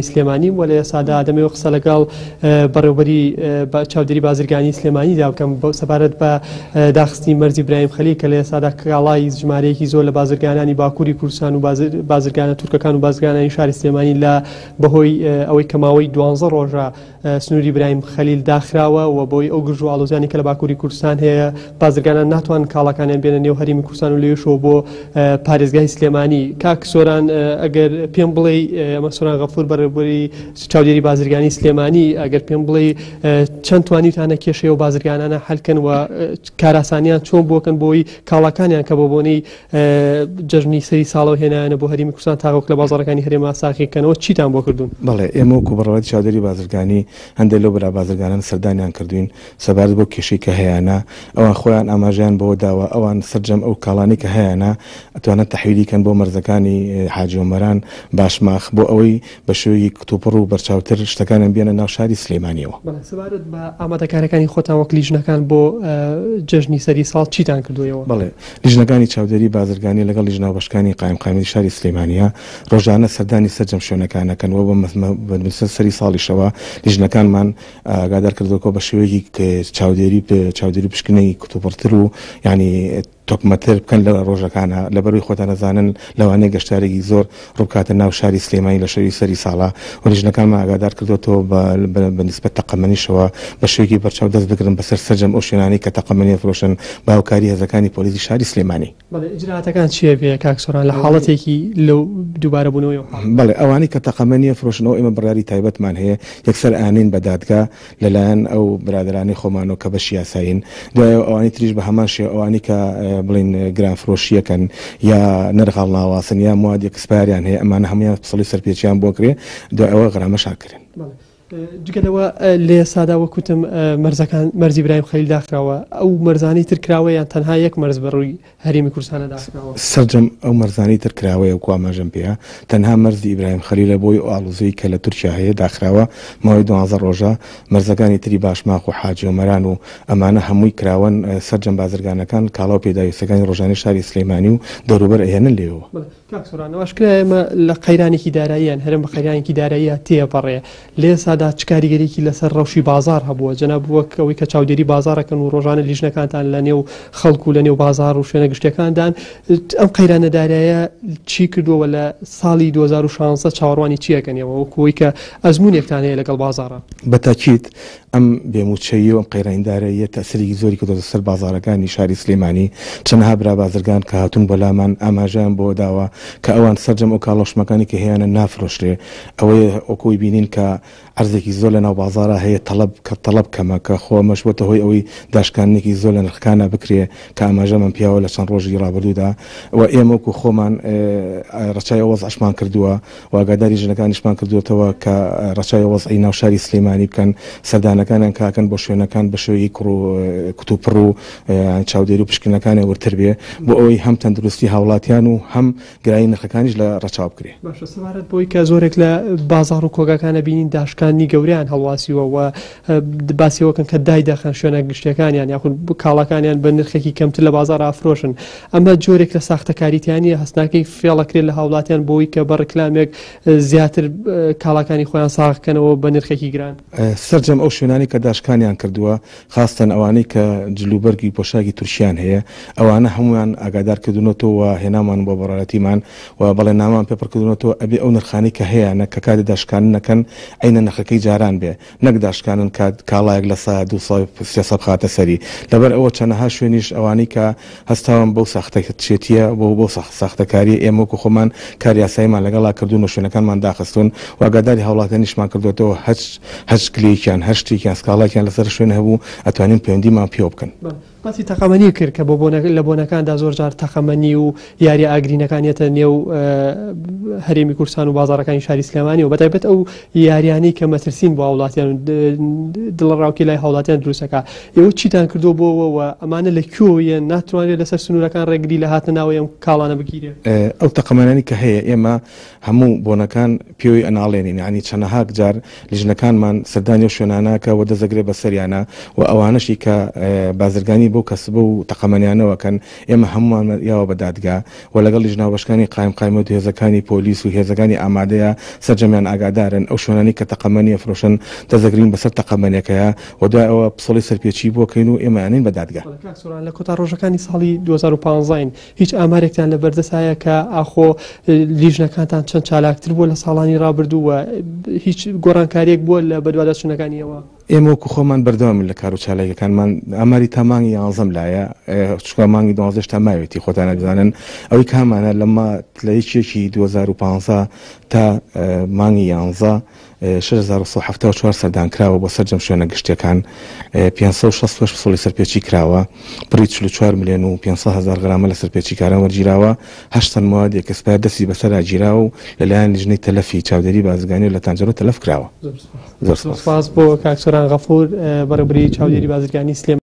سلێمانی و لە ئێستادا دەمەوێت قسە لەگەڵ بەڕێوبەری چاودێری بازرگانی سلێمانیدا بکەم سەبارەت بە داخستنی مەرزی برایم خەلیل کە لە ئێستادا کاڵای ژمارەیەکی زۆر لە بازرگانانی باکووری کوردستان و بازرگانە تورکەکان و بازرگانانی شاری سلێمانی لە بەهۆی ئەوەی کە ماوەی دوانزە ڕۆژە سنووری برایم خەلیل داخراوە و بۆی ئەو گرژ و ئاڵۆزیانی کە لە باکووری کوردستان هەیە بازرگانان ناتوانن کاڵاکانیان بێنە نێو هەرێمی کوردستان و لەوێشەوە بۆ پارێزگای سلێمانی. کاک سۆران ئەگەر پێم بڵێی ئەمە سۆران غەفور بەڕێوەبەری چاودێری بازرگانی سلێمانی ئەگەر پێم بڵێی چەند توانیوتانە کێشەی ئەو بازرگانانە حەلکەن و کاراسانیان چۆن بۆکەن بۆی کاڵاکانیان کە بۆ بۆنەی جەژنی سەری ساڵەوە هێنایانە بۆ هەرێمی کوردستان تاوەکو لە بازاڕەکانی هەرێما ساغی کەنەوە چیتان بۆ کردوون؟ بەڵێ ئێمە وەکو بەڕێوەبەری چاودێری بازرگانی هەندێک لەو برا بازرگانانە سەردانیان کردووین سەبارەت بەو کێشەی کە هەیانە ئەوان خۆیان ئاماژەیان بەوە داوە ئەوان سەرجەم ئەو کاڵانەی کە هەیانە ئەتوانن تەحویلی کەن بۆ مەرزەکانی حاجی ئۆمەران باشماخ بۆ ئەوەی بە شێوەیەکی کتوپڕ و بەرچاوتر شتەکانیان بێنە ناو شاری سلێمانیەوە. بەڵێ سەبارەت بە ئامادەکاریەکانی خۆتان وەک لیژنەکان بۆ جەژنی سەری ساڵ چیتان کردووە ئێوە؟ بەڵێ لیژنەکانی چاودێری بازرگانی لەگەڵ لیژنە هاوبەشەکانی قایمقامیەتی شاری سلێمانیە ڕۆژانە سەردانی سەرجەم شوێنەکان ئەکەن و بە سەری ساڵیشەوە لیژنەکانمان ئاگادار کردووە بە شێوەیەکی چاودێری چاودێری پشکنینی کتوپڕتر و یانی تۆکمەتر بکەن لە ڕۆژەکانە لەبەروی خۆتان ئەزانن لەوانەیە گەشتارێکی زۆر ڕووبکاتە ناو شاری سلێمانی لە شەوی سەری ساڵا و لیژنەکانمان ئاگادار کردووەتەوە بە نیسبەت تەقەمەنیشەوە بە شێوەیەکی بەرچاو دەست بگرن بەسەر سەرجەم ئەو شوێنانەی کە تەقەمەنی ئەفرۆشن بە هاوکاری هێزەکانی پۆلیسی شاری سلێمانی. بەڵێ ئیجرائاتەکان چیە بێ کاک سۆران لە حاڵەتێکی لەو دووبارە بوونەوەی ئەو حاڵەتە؟ بەڵێ ئەوانەی کە تەقەمەنی ئەفرۆشن ئەوە ئێمە بڕیاری تایبەتمان هەیە یەکسەر ئەیاننێین بە دادگا لەلایەن ئەو برادەرانەی خۆمانەوە کە بەشی یاسایین دوای ئەوە ئەوانی تریش بە هەمان شێوە ئەوانەی کە بڵێین گرانفرۆشییەکەن یا نرخ هەڵناواسن یا مواد ئێکسپایەریان هەیە ئەمانە هەموویان پسڵی سەرپێچیان بۆ کرێ دوای ئەوە غەرامەش ئەکرێن. بەڵێ جگە لەوە لە ئێستادا وەک وتم مەرزەکان مەرزی برایم خەلیل داخراوە ئەو مەرزانەی تر کراوە یان تەنها یەک مەرز بە ڕووی هەرێمی کوردستانە داخراوە؟ سەرجەم ئەو مەرزانەی تر کراوەیە وەکو ئاماژەم پێیا تەنها مەرزی ئیبراهیم خەلیلە بۆی ئەو ئاڵوزیەی کە لە تورکیا هەیە داخراوە ماوەی دوانزە ڕۆژە مەرزەکانی تری باشماخ و حاجی ئۆمەران و ئەمانە هەمووی کراوەن سەرجەم بازرگانەکان کاڵا و پێداویستەکانی ڕۆژانەی شاری سلێمانی و دەوروبەر ئەهێنن لێوەوە. کاک سۆران ئاشکرایە ئێمە لە قەیرانێکی داراییان هەرێم بە قەیرانێکی داراییە تێپەڕێ لە ئێستادا چ کاریگەریی لەسەر ڕەوشی بازاڕ هەبووە جەناب وەک ئەوەی کە چاودێری بازاڕەکەن و ڕۆژانە لیژنەکانتان لە نێو خەڵک و لە نێو بازاڕ و شوێنە گشتیەکاندان ئەم قەیرانە دارایە چی کردووە و لە ساڵی 2016 چاوەڕوانی چی ئەکەن ئێوە وەکو ئەوەی کە ئەزموونێکتان هەیە لەگەڵ بازاڕا؟ بە تاکید ئەم بێ مووچەیی و ئەم قەیرانی داراییە تەئسیرێکی زۆری کردۆتە سەر بازاڕەکانی شاری سلێمانی، چەنەها برا بازرگان کە هاتوون بۆ لامان ئاماژەیان بەوە داوە کە ئەوان سەرجەم ئەو کاڵا و شمەکانی کە هەیانە نافرۆشرێ، ئەوەیە وەکو ئەوەی بینین کە عەرزێکی زۆر لە ناو بازاڕا هەیە تەڵەب کە تەڵەب کەمە کە خۆ ئەمەش بۆتە هۆی ئەوەی داشکاندنێکی زۆر لە نرخەکانا بکرێ کە ئاماژەمان پیاوە لە چەند ڕۆژی ڕابردوودا و ئێمە وەکو خۆمان ڕەچاوی ئەو وەزعەشمان کردووە و ئاگاداری ژنەکانیشمان کردووەتەوە کە ڕەچاوی وەزعی ناو شاری سلێمانی بکەن، سەردانەکانیان کە ئەکەن بۆ شوێنەکان بە شێوەیەکی کوڕ و کتوپڕ و چاودێری و پشکنینەکانیان وردتر بێ بۆ ئەوەی هەم تەندروستی هاوڵاتیان و هەم گرانی نرخەکانیش لە ڕەچاو بکرێ. باشە سەبارەت بەوەی کە زۆرێک لە بازاڕ و کۆگاکان ئەبینین داشکاندنی گەورەیان هەڵواسیوە و باسی ئەوە کەن کە دایدەخەن شوێنە گشتیەکانیان یاخود کاڵاکانیان بە نرخێکی کەمتر لە بازاڕ ئافرۆشن ئەمە جۆرێک لە ساختەکاری تیا نییە هەست ناکەی فێڵەکرێت لە هاوڵاتیان بۆی کە بە ڕیکلامێک زیاتر کاڵاکانی خۆیان ساغ کەنەوە بە نرخێکی گران؟ سەرجەم ئەو شوێنانەی کە داشکانیان کردووە خاستەن ئەوانەی کە جلوبەرگی پۆشاکی تورکیان هەیە ئەوانە هەموویان ئاگادار کردوونەتەوە و هێنامان بۆ بەڕێوەتیمان و بەڵێننامەمان پێ پڕکردوونەتەوە ئەبێ ئەو نرخانەی کە هەیانە کە کاتی داشکاندن ئەکەن عەینە نرخەکەی جاران بێ نەک داشکانن کە کاڵایەک لە سا 200 300 بخاتە سەری لەبەر ئەوە چەنەها شوێنیش ئەوانەی کە هەستاون بەو ساختەچێتیە بۆ بەو ساختەکاریە ئێمە وەکو خۆمان کار یاساییمان لەگەڵا کردوون و شوێنەکانمان داخستوون و ئاگاداری هاوڵاتیانیشمان کردۆتەوە هەچ هەچ گلەیەکیان هەر شتێکیان سکاڵایەکیان لەسەر شوێن هەبوو ئەتوانین پەیوەندیمان پێوە بکەن. باسی تەقەمەنی کرد کە بۆ بۆنە لە بۆنەکاندا زۆر جار تەقەمەنی و یاریە ئاگرینەکان یەتە نێو هەرێمی کوردستان و بازاڕەکانی شاری سلێمانی و بەتایبەت ئەو یاریانەی کە مەترسین بۆ هاوڵاتیان و دڵەڕاوکێ لای هاوڵاتیان دروستەکە ئێوە چیتان کردووە بۆەوە و ئەمانە لە کوێوە ناتوانرێت لەسەر سنوورەکان ڕێگری لە هاتنە ناوەی ئەم کاڵانە بگیرێ؟ ئەو تەقەمەنیانەی کە هەیە ئێمە هەموو بۆنەکان پێوەی ئەناڵێنین یانی چەنەهاک جار لیژنەکانمان سەردانی ئەو شوێنانە ئەکا و دەست ئەگرێ بەسەریانا و ئەوانەشی کە بازرگانی بەو کەس بەو تەقەمەنیانەوە کەن ئێمە هەموومان یاوە بە دادگا و لەگەڵ لیژنە هاوبەشەکانی قایمقامیەت و هێزەکانی پۆلیس و هێزەکانی ئامادەیە سەرجەمیان ئاگادارن ئەو شوێنانەی کە تەقەمەنی ئەفرۆشن دەست دەگرین بەسەر تەقەمەنیەکەیا و دوای ئەوە پسوڵەی سەرپێچی بۆ کەین و ئێمە ئەنێین بە دادگا. بەڵێ کاک سۆران لە کۆتا ڕۆژەکانی ساڵی 2015 ین هیچ ئامارێکتان لە بەردەست هەیە کە ئاخۆ لیژنەکانتان چەند چالاکتر بووە لە ساڵانی ڕابردوو و هیچ گۆڕانکاریەک بووە لە بەدواداچوونەکانی ئێوە؟ ئێمە وەکو خۆمان بەردەوامین لە کارو چالاکیەکانمان، ئاماری تا مانگی یانزەم لایە، چونکە مانگی دوانزە هێشتا ماوێتی خۆتان ئەزانن، ئەوەی کە هەمانە لە ما لە یەکی یەکی 2015 تا مانگی یانزە 6174 سەردان کراوە بۆ سەرجەم شوێنە گشتیەکان، 568 پسوڵی سەرپێچی کراوە، بڕی 44 ملیۆن و 500 هەزار غرامە لە سەرپێچیکاران وەرگیراوە، هەشت تەن مەوادی expire دەستی بەسەرا گیراوە و لەلایەن لیژنەی تەلەفی چاودێری بازرگانی و لە تانجەرۆ تەلەف کراوە. زۆر سپاس بۆ کاک سۆران غەفور بەڕێوبەری چاودێری بازرگانی سلێمانی.